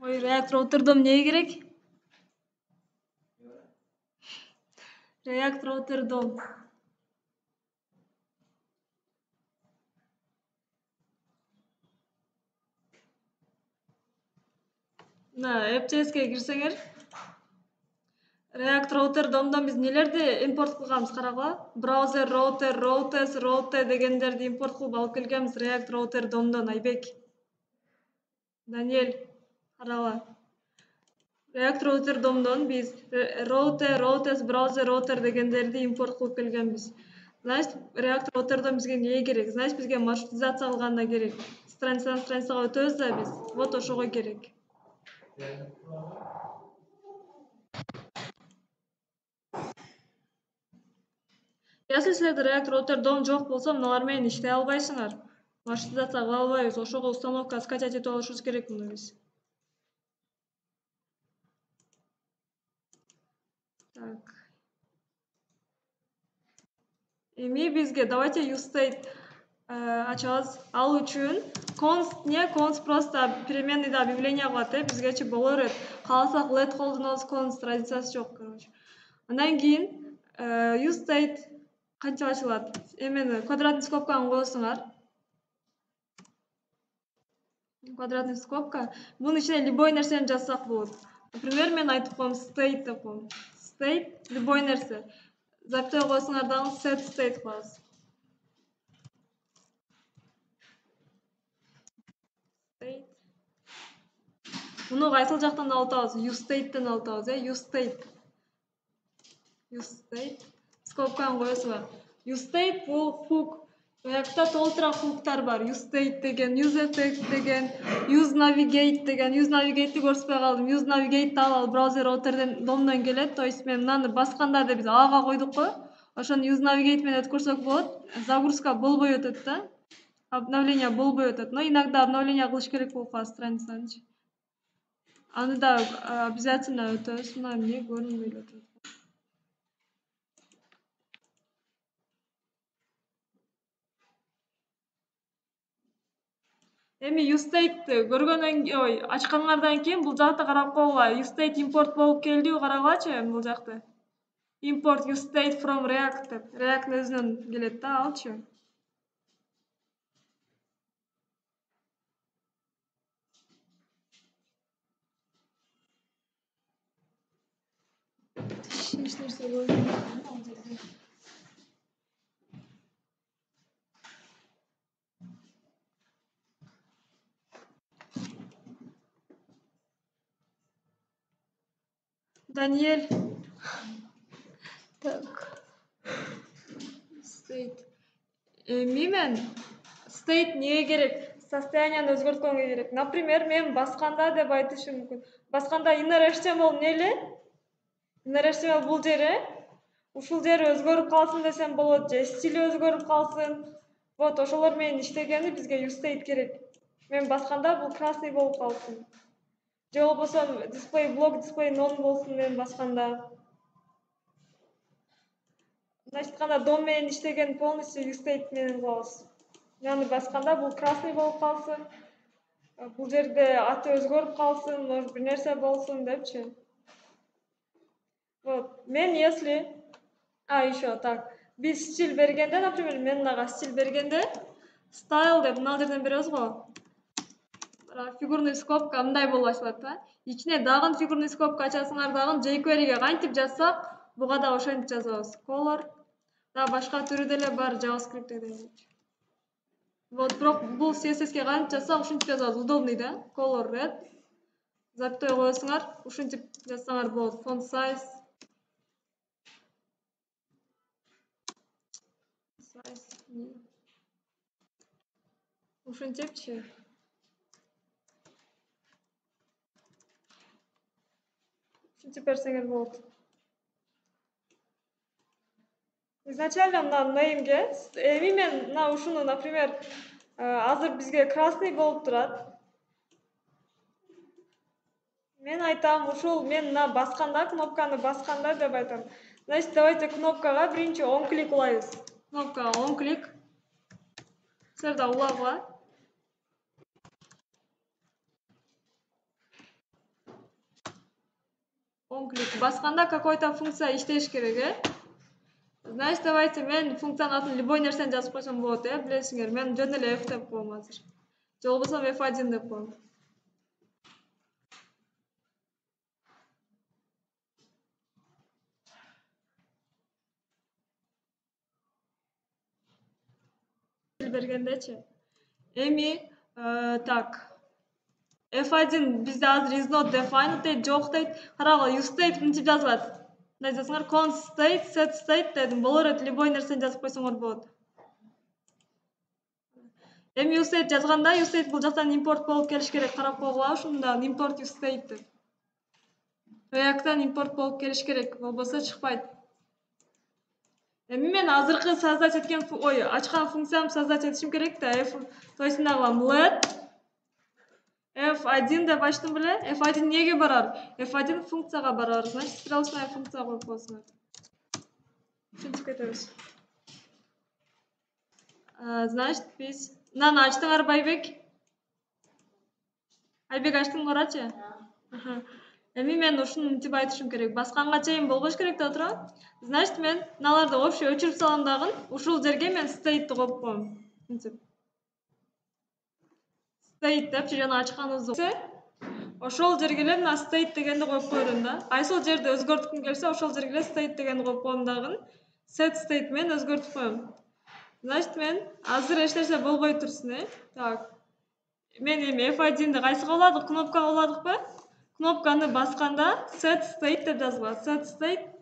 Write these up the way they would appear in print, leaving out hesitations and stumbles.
Ой, реактор отурдум, эмне керек? Реактор отурдум. На, AppJS'ке кирсеңер. Реактор отурдумдан биз нелерди импорт кылганбыз карагыла. Браузер, роутер, routers, router дегендерди импорт кылып алып келгенбиз реактор отурдумдан, Айбек. Даниэль, карагыла. Реактор отурдумдан биз router, routers, browser, router дегендерди импорт кылып келгенбиз. Значит, реактор отурдум бизге эмне керек? Значит, бизге маршрутизация кылганда керек. Страницадан страницага өтөбүз да биз. Вот ошого керек. Если силерде реактор отурдум жок болсо, мыналар менен иштей албайсыңар. Маршрутизация кыла албайбыз. Ошого установка скачать этип алышыбыз керек муну биз. Так. Эми бизге давайте useState ачабыз. Ал үчүн const просто переменныйда объявление кылат, бизгечи боло берет. Кааласак let колдонобуз, const разницасы жок, короче. Андан кийин useState кантип ачылат? Эмени квадратный скобканы коесуңар. Квадратный скобка. Бунун ичине любой нерсени жазсак болот. Например, мен айтып коем state деп коем. State любой нерсе. Запятой коесуңар дагы set state кылабыз. State. Муну кайсыл жактан алып атабыз? useState'тен алып атабыз, useState. useState. Скобканы коесуңар. useState бул hook. Буякта толтура хуктар бар. useState деген, useEffect деген, useNavigate деген. useNavigate'ти көрсөтпөй калдым. useNavigate дагы ал браузер routerден домдон келет. То есть мен мынаны басканда деп биз Ага койдук го. Ошону useNavigate менен өткөрсөк болот. Загрузка болбой өтөт да. Обновление болбой өтөт. Но иногда обновление кылыш керек болуп калат страницаны. Аны да обязательно өтөбүз. Мына эмне көрүнбөй эле атат. Эми useState көргөндөн кийин, ачканыңардан кийин бул жакта карап койгула. useState import болуп келдиби карагылачы бул жакта. Import useState from React деп. React өзүнөн келет да, алчы. Эч нерсе көрүнбөйт. Даниэль. Так. State. Эми мен state эмнеге керек? Состоянияны өзгөрткөнгө керек. Например, мен басканда деп айтышым мүмкүн. Басканда inner HTML эмне эле? Inner HTML бул жери. Ушул жери өзгөрүп калсын десем болот, же стили өзгөрүп калсын. Вот ошолор менен иштегенде бизге useState керек. Мен басканда бул красный болуп калсын. Же болбосо display block, display none болсун мен басканда. Значит, кандай дом менен иштеген полностью useState менен кылабыз. Мынаны басканда бул красный болуп калсын. Бул жерде аты өзгөрүп калсын, может бир нерсе болсун депчи. Вот. Мен если еще так. Биз стиль бергенде, например, мен мынага стиль бергенде style деп мына жерден беребиз го. Фигурный скобка мындай болуп ачылат да. Ичине дагы фигурный скобка ачасыңар дагы jQuery'ге кантип жазсак, буга да ошентип жазабыз. Color. Да башка түрү деле бар JavaScript'те деле. Вот, бирок бул CSS'ке кантип жазсак, ушинтип жазабыз. Удобный да. Color red. Запятой коесуңар, ушинтип жазсаңар болот. Font size. Ушинтипчи. Ушинтип берсеңер болот. Изначально мына name'ге, эми мен мына ушуну, например, азыр бизге красный болуп турат. Мен айтам, ушул мен мына басканда, кнопканы басканда деп айтам. Значит, давайте кнопкага биринчи он клик улайбыз. Кнопкага он клик. Силер да улагыла. Он клик басканда какой-то функция иштеш керек, Значит, давайте мен функциянын атын любой нерсени жазып койсом болот, билесиңер. Мен жөн эле f деп коем азыр. Же болбосо f1 деп коем. Бергендечи. Эми так. f1 бизде азыр is not defined дейт, жок дейт. Карагыла, use state мынтип жазылат. Мындай жазсаңар const state, set state дедим. Болор эт любой нерсени жазып койсоңор болот. Эми use state жазганда, use state бул жактан import болуп келиш керек. Карап койгула, ушунда import use state деп. React'тан import болуп келиш керек, болбосо чыкпайт. Эми мен азыркы создать эткен, ачкан функциямды создать этишим керек да. То есть мына кылам let f1 деп ачтым беле. f1 эмнеге барар? f1 функцияга барар. Значит, стрелочная функция коюп койсуңар. Ушинтип кетебиз. Значит, биз мынаны ачтыңарбы, Айбек? Айбек ачтыңарчы? Эми мен ушуну мынтип айтышым керек. Басканга чейин болбош керек да тура. Значит, мен мыналарды общий өчүрүп салам дагы. Ушул жерге мен state коюп коем. Мынтип. State деп жана ачканыбызды. Ошол жерге эле мына state дегенди коюп койдум да. Кайсыл жерди өзгөрткүм келсе, ошол жерге эле state дегенди коюп коем дагы. Set state мен өзгөртүп коем. Значит, мен азыр эч нерсе болбой турсун, Так. Мен эми F1'ди кайсыга уладык? Кнопкага уладыкпы? Кнопканы басканда set state деп жазылат. Set state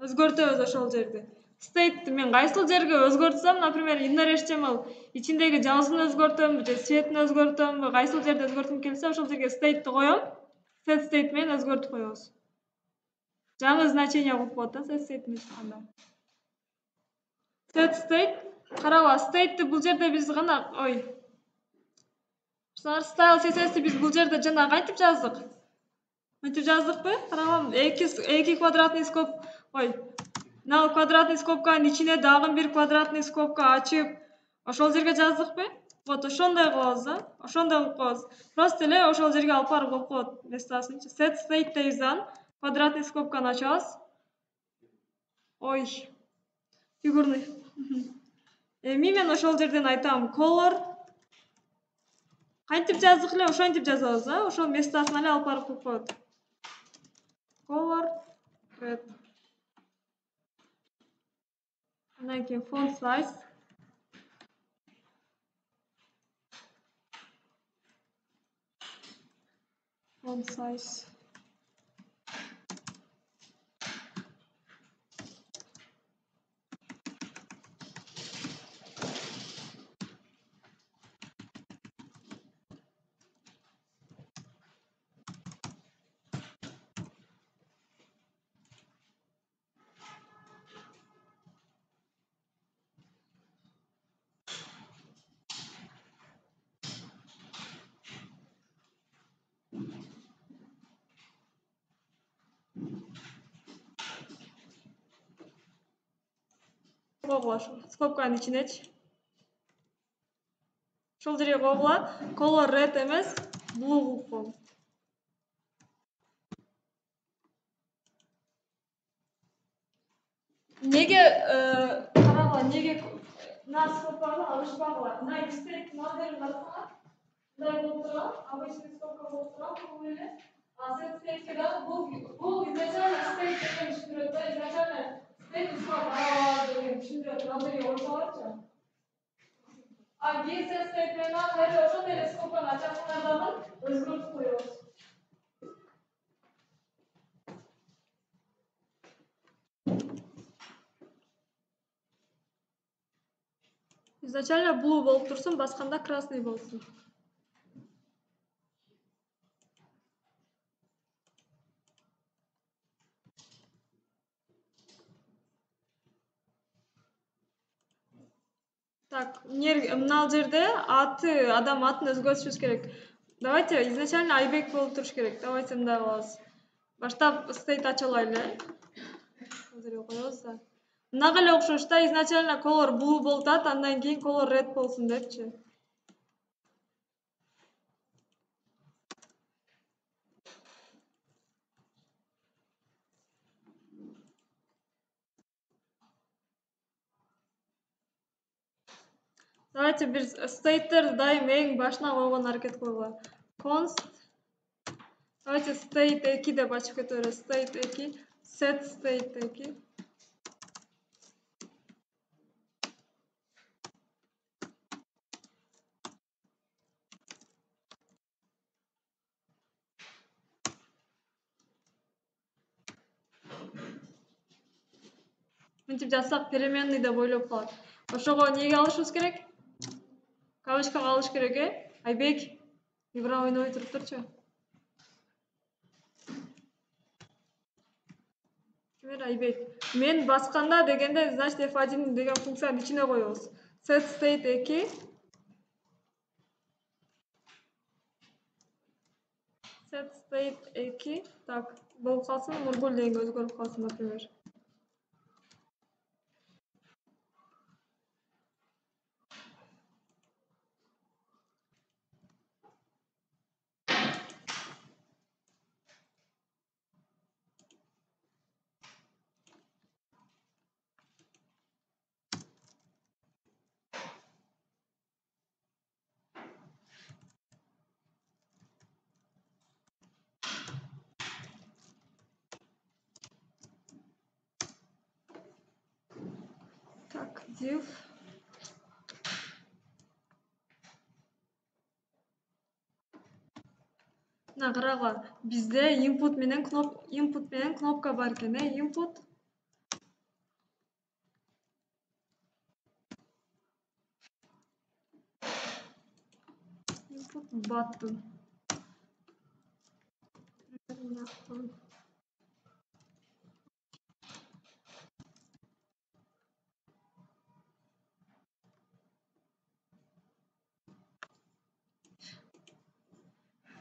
өзгөртөбүз ошол жерди. State мен кайсыл жерге өзгөртсөм, например, inner HTML ичиндеги жазуун өзгөртөмбү же цветин өзгөртөмбү, кайсыл жерде өзгөрткүм келсе, ошол жерге state'ти коем. Set state менен өзгөртүп коебуз. Жаңы значение коюп коет да, set state менен чыкканда. Set state, карагыла, state'ти бул жерде биз гана, style CSS'ти биз бул жерде жана кантип жаздык? Мынтип жаздыкпы? Карагам, 2 квадратный скоб, мына квадратный скобканын ичине дагы бир квадратный скобка ачып, ошол жерге жаздыкпы? Вот ошондой кылабыз да, ошондой кылып коебуз. Просто эле ошол жерге алып барып коюп коет местасынчы. Set state дейбиз, квадратный скобканы ачабыз. Фигурный. Эми мен ошол жерден айтам color. Кантип жаздык эле, ошентип жазабыз, ошол местасына эле алып барып коюп коет. Color red. Андан кийин font size. Font size. Скобканын ичинечи. Ошол жерге койгула, color red эмес, blue кылып коем. Неге карагыла, неге мына скобканы алышпагыла? Мына state моделин бассаңар, мындай болуп турган, обычный скобка болуп турган, бул эле. Set state дагы бул изначально state деген түшүндүрөт да, изначально state деген түшүндүрөт. Ал жерге койсоңорчу. Биз set state менен кайра ошондой эле скобканы ачасыңар дагы өзгөртүп коебуз. Изначально blue болуп турсун, басканда красный болсун. Так, мына жерде адам атын өзгөртүшүбүз керек. Давайте изначально Айбек болуп туруш керек. Давайте мындай кылабыз. Баштап state ача алайлы. Бул жерге коебуз да. Мынага эле окшош да, изначально color blue болуп атат, андан кийин color red болсун депчи. Давайте бир state'терди дайым эң башына койгон аракет кылгыла. Const давайте state 2 деп ачып кете беребиз. State 2 set state 2. Мынтип жазсак переменный деп ойлоп калат. Ошого неге алышыбыз керек? Кавычкага алыш керек, Айбек. Ибра ойнобой туруп турчу. Кимер Айбек. Мен басканда дегенде, значит f1 деген функциянын ичине коебуз. Set state 2. Set state 2. Так, болуп калсын, Нургул дегенге өзгөрүп калсын, например. Так, div карагыла. Бизде input менен кнопка бар экен, input button.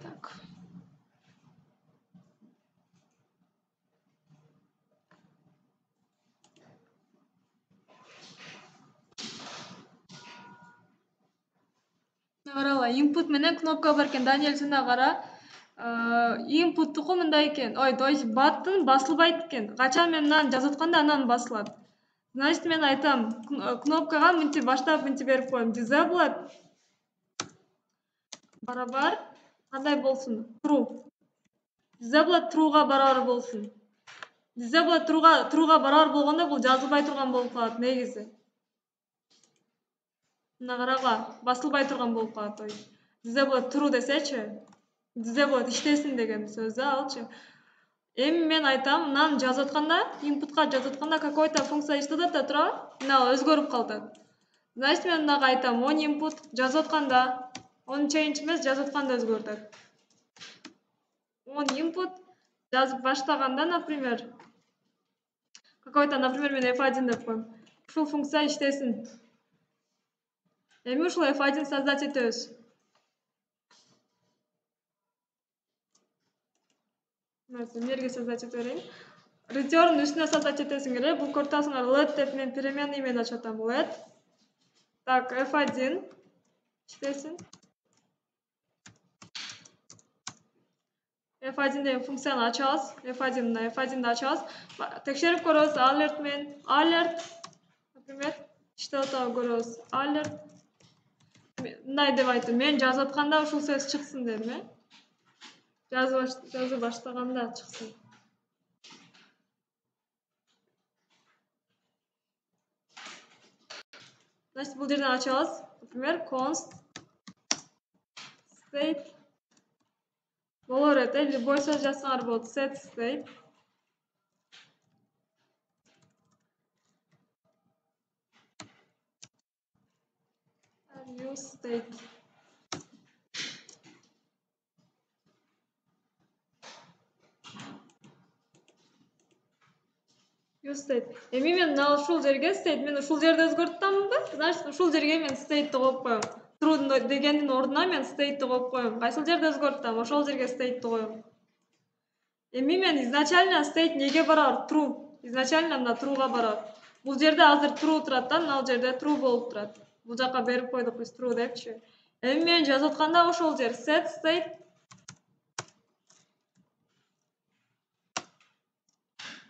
Так. Карагыла, input менен кнопка бар экен. Даниэль, сен да кара. Input-туку мындай экен. Ой, то есть button басылбайт экен. Качан мен мынаны жазып атканда анан басылат. Значит, мен айтам, кнопкага мынтип баштап мынтип берип коем. Disabled барабар кандай болсун? True. Disabled true'га барабар болсун. Disabled true'га барабар болгондо бул жазылбай турган болуп калат негизи. Мына карагыла, басылбай турган болуп калат. То есть disabled true десечи, disabled иштесин деген сөз алчы. Эми мен айтам, мынаны жазып атканда, inputка жазып атканда какой-то функция иштеп атат, туурабы? Мына өзгөрүп калат. Значит, мен мынага айтам, on input жазып атканда, on change эмес, жазып атканда өзгөрүп атат. On input жазып баштаганда, например, какой-то, например, мен f1 деп коем. Ушул функция иштесин. Эми ушул f1 создать этебиз. Мерге создать ете берейин. Return үстүнө создать этесиң керек. Бул көрүп let деп мен переменный менен ачып атам. Let. Так, f1 иштесин. f1 деген функцияны ачабыз. f1'ди ачабыз. Текшерип көрөбүз. Alert мен alert, например, иштеп атабы көрөбүз. Alert. Мындай деп айтам. Мен жазып атканда ушул сөз чыксын дедим, жазып баштаганда чыксын. Значит, бул жерден ачабыз. Например, const state болор эте, любой сөз жазсаңар болот. Set state use state. Use state. Эми мен ушул жерге state, мен ушул жерде өзгөртөмбү? Значит, ушул жерге мен state коюп коем. True дегендин ордуна мен state коюп коем. Кайсыл жерде өзгөртөм? Ошол жерге state коем. Эми мен изначально state неге барабар? True. Изначально мына true'га барабар. Бул жерде азыр true турат да, мына жерде true болуп турат. Бул жака берип койдук биз true депчи. Эми мен жазып атканда ошол жер set state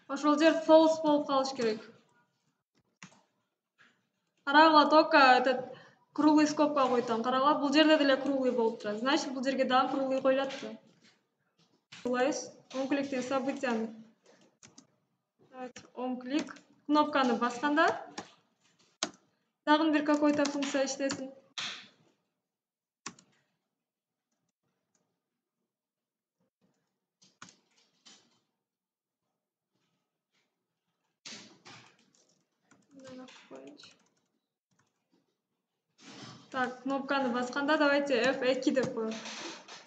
ошол жер false болуп калыш керек. Карагыла, только этот круглый скобка койтам. Карагыла, бул жерде деле круглый болуп турат. Значит, бул жерге дагы круглый коюлат да. Кылабыз. Он кликтеги событияны. Он клик. Кнопканы басканда дагы бир какой-то функция иштесин. Так, кнопканы басканда давайте F2 деп коелу.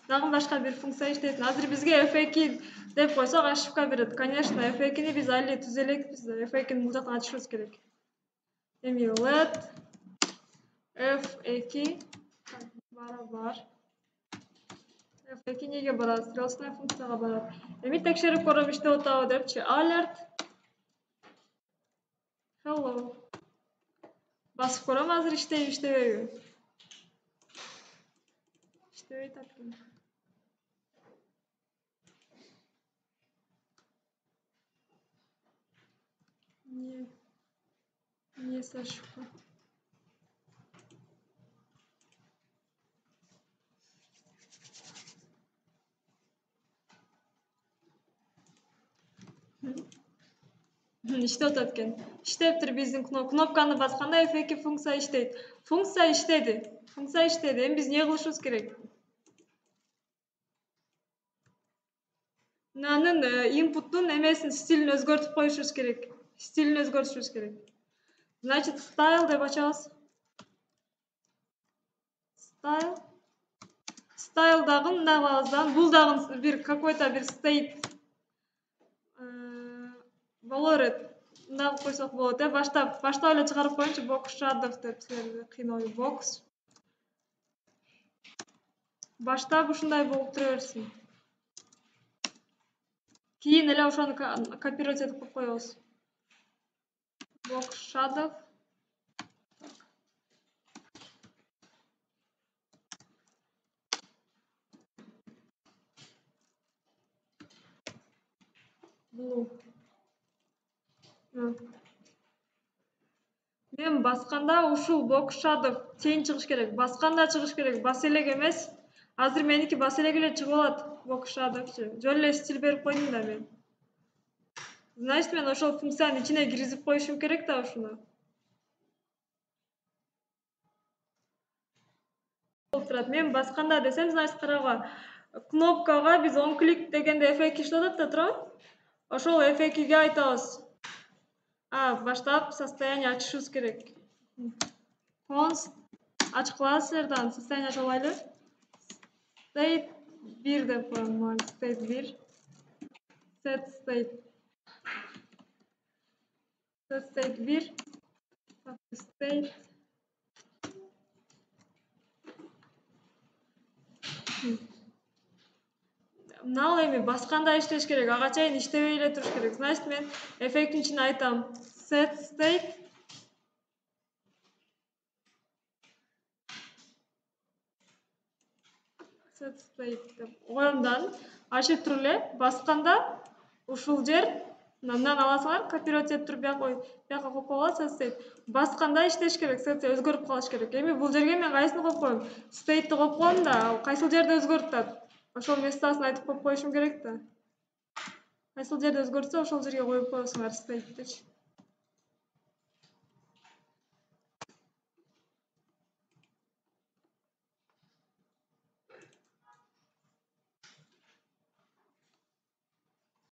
Дагы башка бир функция иштесин. Азыр бизге F2 деп койсок ошибка берет. Конечно, F2-ни биз али түзө элекпиз да. F2-ни бул жактан ачышыбыз керек. Эми let F2 барабар. F2 неге барат? Стрелочная функцияга барат. Эми текшерип көрөм иштеп атабы депчи. Alert. Hello. Басып көрөм азыр иштейби, иштебейби? Иштебей атат. Не ошибка. Иштеп атат экен. Иштептир биздин кнопканы басканда F2 функция иштейт. Функция иштеди. Эми биз эмне кылышыбыз керек? Мынанын инпуттун эмесин стилин өзгөртүп коюшубуз керек. Значит, style деп ачабыз. Style дагы мындай кылабыз да. Бул дагы бир какой-то бир state болор эт. Мындай кылып койсок болот. Баштап эле чыгарып коеюнчу. Box shadow деп силерди кыйноо. Box. Баштап ушундай болуп тура берсин. Кийин эле ошону копировать этип коюп коебуз. Box shadow. Blue. Мен басканда ушул box shadow тең чыгыш керек. Басканда чыгыш керек. Бас элек эмес. Азыр меники бас элек эле чыгып алат. Box shadowчу. Жөн эле стиль берип койдум да мен. Значит, мен ошол функциянын ичине киргизип коюшум керек да ушуну. Мен басканда десем, значит, карагыла. Кнопкага биз он клик дегенде F2 иштеп атат да туурабы? Ошол F2ге айтабыз. Баштап состояние ачышыбыз керек. Const ачкыласыздар да состояние ача алайлы. State 1 деп коем. State 1. Set state 1. State. Мынал эми басканда иштеш керек. Ага чейин иштебей эле туруш керек. Значит, мен F2-нин ичине айтам. Set state. Деп коем да ачып туруп эле басканда ушул жер мындан аласыңар, копировать этип туруп бияка коюп койгула set state. Басканда иштеш керек, set өзгөрүп калыш керек. Эми бул жерге мен кайсыны коюп коем? State'ти коюп коем да, кайсыл жерде өзгөрүп атат? Ошол местосын айтып коюп коюшум керек да. Кайсыл жерде өзгөртсө, ошол жерге коюп коесуңар state'тичи.